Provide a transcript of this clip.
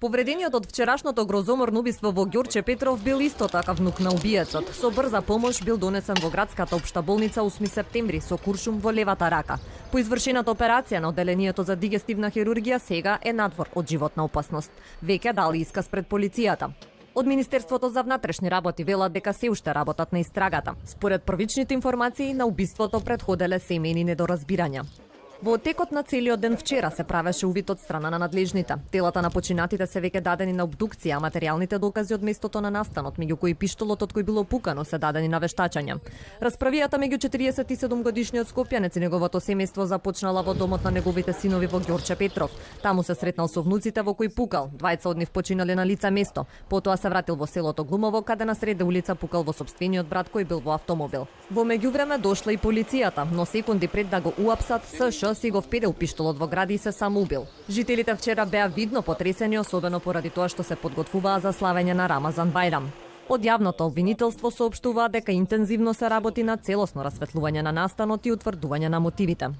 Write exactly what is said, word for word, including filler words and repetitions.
Повредениот од вчерашното грозоморно убиство во Ѓорче Петров бил исто така внук на убиецот. Со брза помош бил донесен во градската општа болница осми септември со куршум во левата рака. По извршената операција на оделението за дигестивна хирургија сега е надвор од животна опасност. Веќе дали исказ пред полицијата. Од Министерството за внатрешни работи велат дека се уште работат на истрагата. Според првичните информации, на убиството претходеле семејни недоразбирања. Во текот на целиот ден вчера се правеше увид од страна на надлежните. Телата на починатите се веќе дадени на обдукција, а материјалните докази од местото на настанот, меѓу кои пиштолот од кој било пукано, се дадени на вештачање. Расправијата меѓу четириесет и седум годишниот скопјанец и неговото семејство започнала во домот на неговите синови во Ѓорче Петров. Таму се сретнал со внуците во кои пукал. Двајца од нив починале на лице место. Потоа се вратил во селото Глумово, каде на среде улица пукал во сопствениот брат кој бил во автомобил. Во меѓувреме дошла и полицијата, но секунди пред да го уапсат, СШ си го впедел пиштолот во гради и се самоубил. Жителите вчера беа видно потресени, особено поради тоа што се подготвуваа за славење на Рамазан Бајрам. Од јавното обвинителство соопштуваа дека интензивно се работи на целосно расветлување на настанот и утврдување на мотивите.